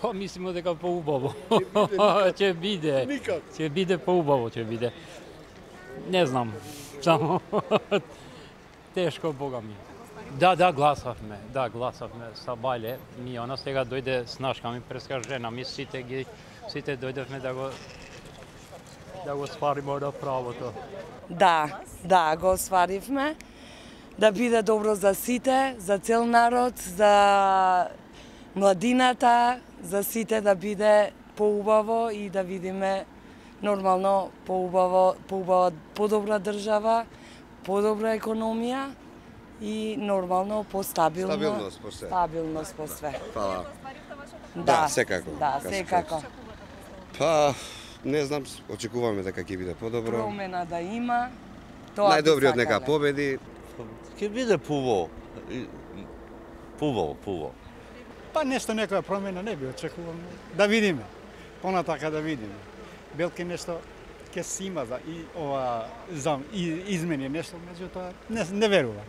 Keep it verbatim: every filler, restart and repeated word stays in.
Па мислимо дека поубаво. Ќе биде. Ќе биде поубаво, ќе биде. Не знам. Само тешко, Бога ми. Да, да, гласавме. Да, гласавме са Бајле. Ми она сега дојде снашка ми преска жена ми, сите ги сите дојдевме да го да го свариме на правото. Да, да, го сваривме. Да биде добро за сите, за цел народ, за младината, за сите да биде поубаво и да видиме нормално поубаво, поубава, подобра држава, подобра економија и нормално постабилно. Стабилност по све. Стабилност по све. Фала. Да, Да, секако. Да, секако. Па, не знам, очекуваме дека ќе биде подобро. Промена да има. Тоа Најдобриот нека победи. Ќе биде пуво. Пуво, пуво. Па нешто некоја промена не би очекувам. Да видиме. Понатака да видиме. Белке нешто ќе се има за и ова за и измени нешто, меѓутоа не не верувам.